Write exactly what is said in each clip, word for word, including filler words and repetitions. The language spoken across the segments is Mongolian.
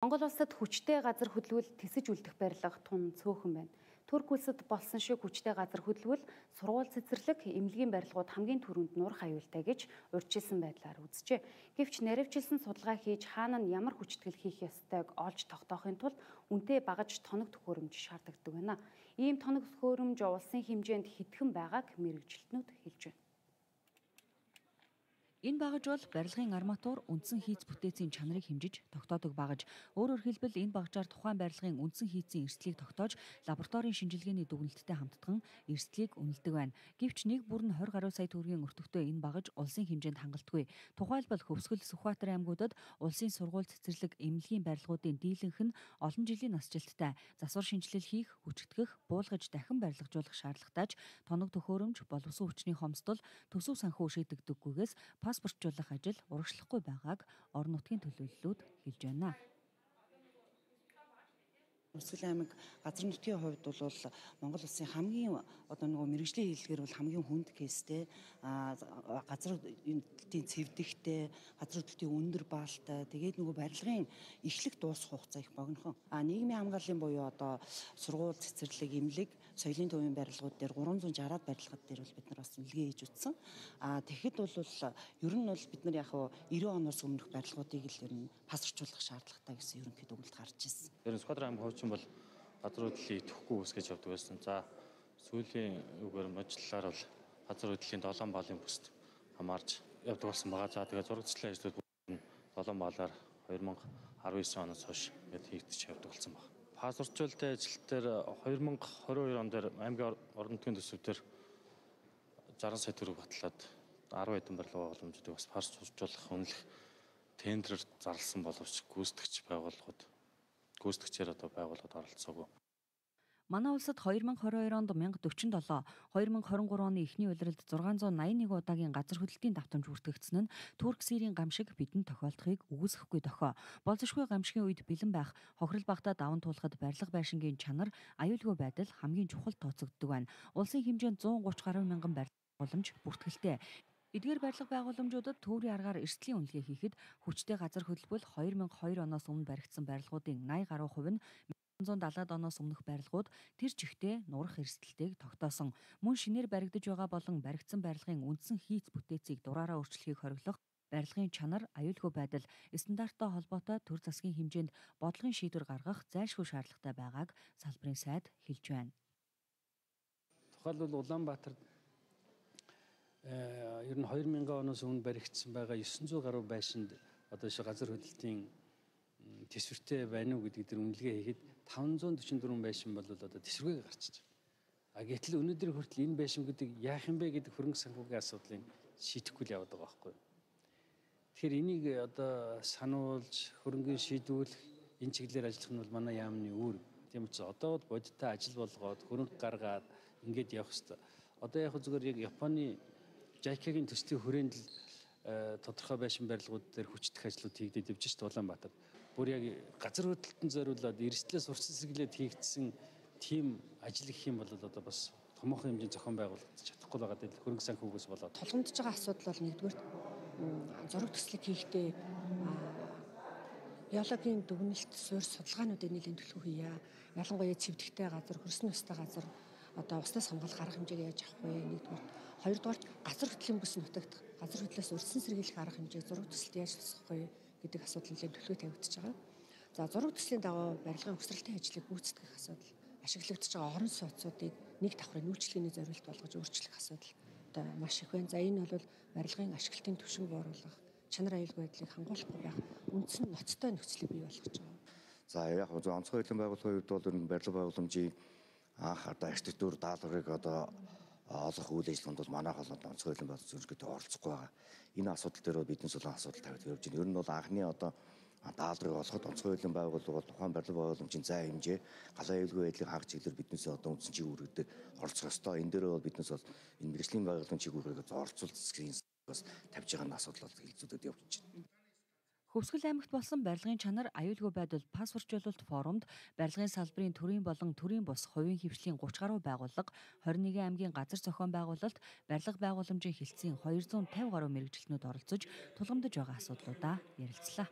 Монгол улсад хүчтэй газар хөдлөл тэсэж үлдэх барилга тун цөөхөн байна. Турк улсад болсон шиг хүчтэй газар хөдлөл сургууль цэцэрлэг, эмнэлгийн барилгууд хамгийн түрүүнд нурах аюултай гэж урьдчилсан байдлаар үзжээ. Гэвч наривчилсан судалгаа хийж хаана нь ямар хүчтгэл хийх ёстойг олж тогтоохын тулд үнэтэй багаж тоног төхөөрөмж шаардлагадаг байна. Ийм тоног төхөөрөмж улсын хэмжээнд хэдхэн байгааг мэргэжилтнүүд хэлж байна. Энэ багаж бол барилгын арматур үндсэн хийц бүтээцийн чанарыг хэмжиж тогтоодог багаж. Өөрөөр хэлбэл энэ багажаар тухайн барилгын үндсэн хийцийн эрсдлийг тогтоож лабораторийн шинжилгээний дүгнэлттэй хамтдаган эрсдлийг үнэлдэг байна. Гэвч нэг бүр нь двадцать гаруй сая төгрөгийн өртөгтэй энэ багаж улсын хэмжээнд хангалтгүй. Тухайлбал Хөвсгөл, Сүхбаатар аймагуудад улсын сургууль цэцэрлэг, эмнэлгийн барилгуудын дийлэнх нь олон жилийн насжилттай, засвар шинжилэл хийх, хүчтгэх, буулгаж дахин барилгажуулах шаардлагатайж тоног төхөөрөмж, боловсон хүчний хомсдол, төсөв санхүү шийдэгдэггүйгээс паспортлуулах ажил урагшлахгүй байгааг орон нутгийн төлөөллүүд хэлж байна. Хөвсгөл аймаг газар нутгийн хувьд бол Монгол улсын хамгийн одоо нөгөө мэргэжлийн хэллэгээр бол хамгийн хүнд кейстэй, газар хөдлөлтийн цэвдэгтэй, газар хөдлөлтийн өндөр баалтай, тэгээд нөгөө барилгын эхлэх дуусах хугацаа их богинохон. А нийгмийн хамгааллын буюу одоо сургууль, цэцэрлэг, эмнэлэг, соёлын төвийн барилгууд дээр гурван зуун шараад барилгад дээр бол бид нар бас нэлгээ хийж утсан. А тэгэхэд бол ер нь бол бид нар яг девяносто оноос өмнөх барилгуудыг л ер нь пасарчуулах шаардлагатай гэсэн ерөнхийд өгүүлэлт гарч ирсэн. Тэр Сүхбаатар аймаг бол газар хөдлөлийг идэвхгүй үсгэж явдаг байсан. За сүүлийн үгээр мөчлөлөөр бол газар хөдлөлийн долоон балын бүст хамаарч явдаг болсон байгаа. За тэгээд зурагчлалын ажлууд долоон балаар две тысячи десять оноос хойш гээд хийгдэж явдаг болсон байна. Паспортчлалтай ажил дээр две тысячи двадцать two он дээр аймгийн орон нутгийн төсөв дээр sixty сая төгрөг батлаад ten хэдэн барилга боломжтой бас паспортлуулах үнэлэх тендерээр зарласан боловч гүйцэтгэгч байгууллагууд гүйцэтгэгчээр одоо байгууллагад оролцоогүй. Манай улсад two thousand twenty-two онд one thousand forty-seven, two thousand twenty-three оны эхний улиралд six hundred eighty-one удаагийн газар хөдлөлтийн давтамж бүртгэгдсэн нь Турк Сирийн гамшиг бидэнд тохиолдохыг үгүйсэхгүй дохио. Болзошгүй гамшигын үед бэлэн байх, хохирол багтаа даван туулахад барилга байшингийн чанар, аюулгүй байдал хамгийн чухал тооцогддог байна. Улсын хэмжээнд one thirty гаруй мянган барилга боломж бүртгэлтэй. Эдгээр барилга байгууламжуудад төврийн аргаар эрсдлийн үнэлгээ хийхэд хүчтэй газар хөдлөл two thousand two оноос өмнө баригдсан барилгуудын eighty гаруй хувь нь nineteen seventy оноос өмнөх барилгууд тэр чигтээ нурах эрсдэлтэйг тогтоосон. Мөн шинээр баригдаж байгаа болон баригдсан барилгын үндсэн хийц бүтээцийг дураараа өөрчлөхийг хориглох, барилгын чанар, аюулгүй байдал, стандарттай холбоотой төр засгийн хэмжээнд бодлогын шийдвэр гаргах зайлшгүй шаардлагатай байгааг салбарын сайд хэлж байна. Тухайлбал Улаанбаатарт ер нь two thousand оноос өмнө баригдсан байгаа nine hundred гаруй байшинд одоо ши газар хөдлөлтийн тэсвэртэй байна уу гэдэг дээр үнэлгээ хийхэд five hundred forty-four байшин бол одоо тэсвэргээ гарчиж байгаа. А гэтэл өнөөдөр хүртэл энэ байшин гэдэг яах юм бэ гэдэг хөрөнгө санхүүгийн асуудлыг шийдэхгүй л яваад байгаа байхгүй. Тэгэхээр энийг одоо сануулж хөрөнгөний шийдвэрлэх энэ чиглэлээр ажиллах нь бол манай яамны үүрэг. Тийм учраас одоо бол бодиттой ажил болгоод хөрөнгө гаргаад ингээд явах хэрэгтэй. Одоо яг зүгээр яг Японы жайкагийн төслийн хүрээнд л тодорхой байшин барилгууд дээр хүчтэй ажлууд хийгдээд явж шүү дээ Улаанбаатарт. Бүр яг газар хөдлөлтөнд зориулаад эрсдлээс урьдчилан сэргийлээд хийгдсэн тийм ажил гэх юм бол одоо бас томоохон хэмжээний зохион байгуулалт чадахгүй байгаа дээр хөрөнгө санхүүгээс болоод тулгамдж байгаа асуудал бол нэгдүгээр зураг төслийг хийхдээ геологийн дүгнэлт суурь судалгаануудыг нэлээд төлөв хийя. Ялангуяа цэвдэгтэй газар, хөрсөн өстэй газар одоо уснаас хамгаалах арга хэмжээг яаж авах вэ? Нэгдүгээр. Хоёрдугаар газар хөдлөлийн бүс нутагт газар хөдлөлөөс урьдчилан сэргийлэх арга хэмжээг зураг төсөлд яаж тусгах вэ гэдэг асуудал нэлээд төлөв тавигдчихж байгаа. За зураг төслийн дагуу барилгын угсралтын ажлыг гүйцэтгэх асуудал, ашиглагдж байгаа орон сууцуудыг нэг давхрын үйлчлэгээний зорилт болгож өөрчлөх асуудал одоо маш их байна. За энэ бол барилгын ашиглалтын түвшинг бууруулах, чанар аюулгүй байдлыг хангуулахгүй байх үндсэн ноцтой нөхцөлийг бий болгож байгаа. За яг онцгой хэлэн байгууллагын хувьд бол энэ барилга байгууламжийн анх одоо архитектур даалгаврыг одоо олох үйл ажиллагаанд бол манайх бол онцгой хэлэн байгууллагын зөвлөгөөтэй оролцохгүй байгаа. Энэ асуудал дээр биднээс бол асуудал тавьж явж байна. Ер нь бол анхны одоо даалгаврыг олоход онцгой хэлэн байгууллага бол тухайн барилга байгууламжийн зай хэмжээ, галаа аюулгүй байдлыг хангах чиглэлээр биднээс одоо үндсэн чиглэл үүрэгтэй оролцох ёстой. Энэ дээр бол биднээс бол энэ мэргэжлийн байгууллагын чиглэлээр оролцуулах засгийн бас тавьж байгаа асуудал бол хэлцүүдэд явж байна. Хөвсгөл аймагт болсон барилгын чанар, аюулгүй байдал паспортчлалт форумд барилгын салбарын төрийн болон төрийн бус хувийн хвшлийн thirty гаруй байгууллага, twenty-one аймгийн газар зохион байгуулалт, барилга байгууламжийн хэлтсийн two hundred fifty гаруй мэргэжилтнүүд оролцож тулгамдж байгаа асуудлуудаа ярилцлаа.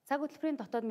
Цаг хөтөлбөрийн дотоод